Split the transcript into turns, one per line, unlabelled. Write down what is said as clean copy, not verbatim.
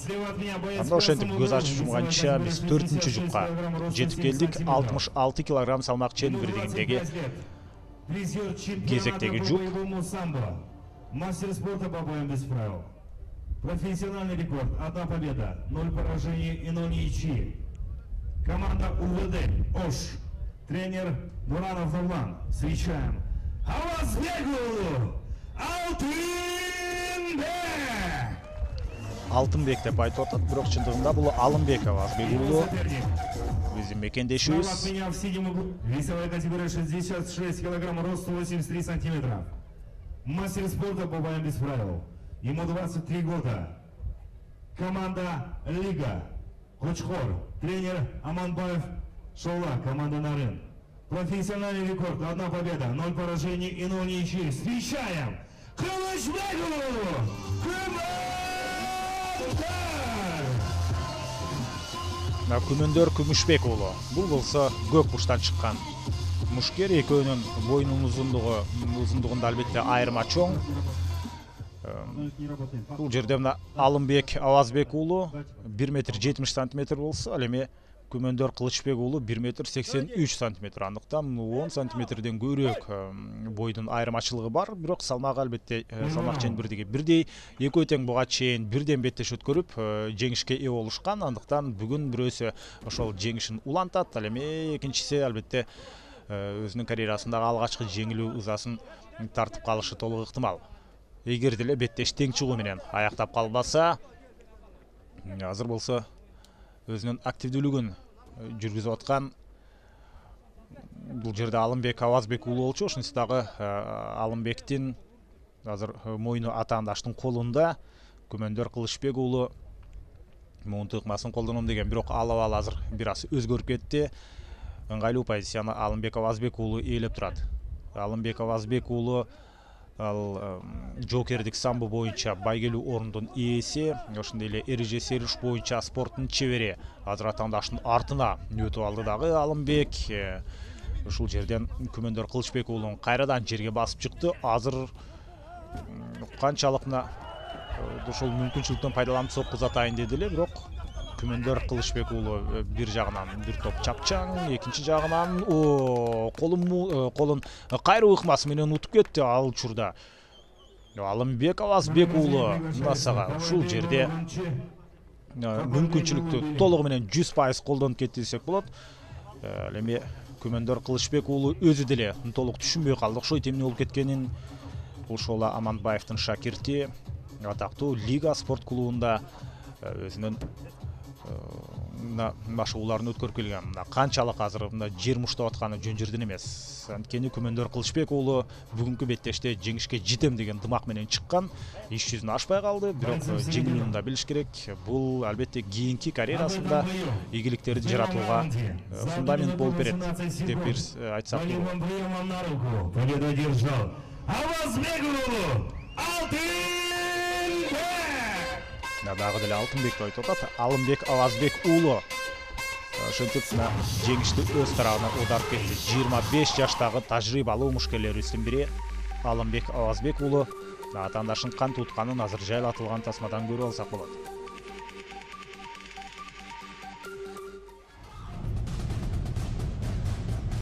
Анда ошентип көз ачып жумганча биз 4-жупка жетип келдик. 66 килограмм салмак ченбирдигиндеги кезектеги жуп.
Мастер спорта по боям без правил. Профессиональный рекорд. 1 победа, 0 поражений и 0 ничьи. Команда УВД ОШ. Тренер Буранов Нурлан. Встречаем Авазбекулу Алтынбек.
Алтынбек деп айтып атат, бирок чындыгында бул Алымбек Авазбекулу. Биздин мекендешибиз.
Весовая категория 66 килограмм, рост 183 сантиметра. Мастер спорта по боям без правил. Ему 23 года. Команда Лига. Кочхор. Тренер Аманбаев Шола. Команда Нарын. Профессиональный рекорд. 1 победа, 0 поражений и 0 ничьи. Встречаем Кылычбекулу
Күмөндөр Күмүшбек уулу. Бул болсо көк буштан чыккан мушкер. Экөөнүн боюнун узундугунда албетте айырма чоң. Бул жерде мына Алымбек Авазбек уулу 1,70 см болсо, ал эми Күмөндөр Кылычбек уулу 1,83 см. Андыктан 10 сантиметрден көбүрөөк бойдун айырмачылыгы бар. Бирок салмак албетте салмак ченбирдиги бирдей. Экөө тең буга чейин бирден беттеш өткөрүп жеңишке ээ болушкан. Андыктан бүгүн бирөөсү ошол жеңишин улантат. Ал эми экинчиси албетте өзүнүн карьерасындагы алгачкы жеңилүү ызасын тартып калышы толук ыктымал. Эгер деле беттеш тең чыгуу менен аяктап калбаса, азыр болсо өзүнүн активдүүлүгүн жүргүзүп аткан бул жерде Алымбек Авазбек уулу болчу. Ошонусу дагы Алымбектин азыр мойну атаандаштын колунда. Күмөндөр Кылычбек уулу муун тыкмасын колдоном деген, бирок ал абал азыр бир аз өзгөрүп кетти. Ыңгайлуу позицияны Алымбек Авазбек уулу ээлеп турат. Алымбек Авазбек уулу ал жокердик самбо боюнча байгелүү орундун ээси, ошондой эле эреже сериш боюнча спорттун чебери. Азыр атаандаштын артына өтүп алды дагы Алымбек. Ушул жерден Күмөндөр Кылычбек уулун кайрадан жерге басып чыкты. Азыр канчалык мына ошол мүмкүнчүлүктөн пайдаланып сокку атайын деди эле, бирок Күмөндөр Кылычбек уулу бир жагынан бир топ чапчаң, экинчи жагынан колун кайруу ыкмасы менен утуп кетти. Ал учурда Алымбек Авазбек уулу мынасага ушул жерде мүмкүнчүлүктү толугу менен 100% колдонуп кетти десек болот. Ал эми Күмөндөр Кылычбек уулу өзү деле толук түшүнбөй калды. Окшойт эмне болуп кеткенин. Ошол Аманбаевдин шакирти, атактуу Лига спорт клубунда өзүнүн машыгууларын өткөрүп келген. Канчалык азыр жер муштап атканы жөн жерден эмес. Анткени Күмөндөр Кылычбек уулу бүгүнкү беттеште жеңишке жетем деген дымак менен чыккан. Иш жүзүн ашпай калды, бирок жеңүүнү да билиш керек. Бул албетте кийинки карьерасында ийгиликтерди жаратууга фундамент болуп берет деп бир айтсак болот.
Победу одержал Авазбек уулу Алтынбек.
Дагы деле Алтынбек деп айтып атат. Алымбек Авазбек уулу ошентип жеңишти өз тарабына аударып кетти. 25 жаштагы тажрыйбалуу мушкерлерибиздин бири Алымбек Авазбек уулу атаандашын кантип утканын азыр жайлатылган тасмадан көрүп алсак болот.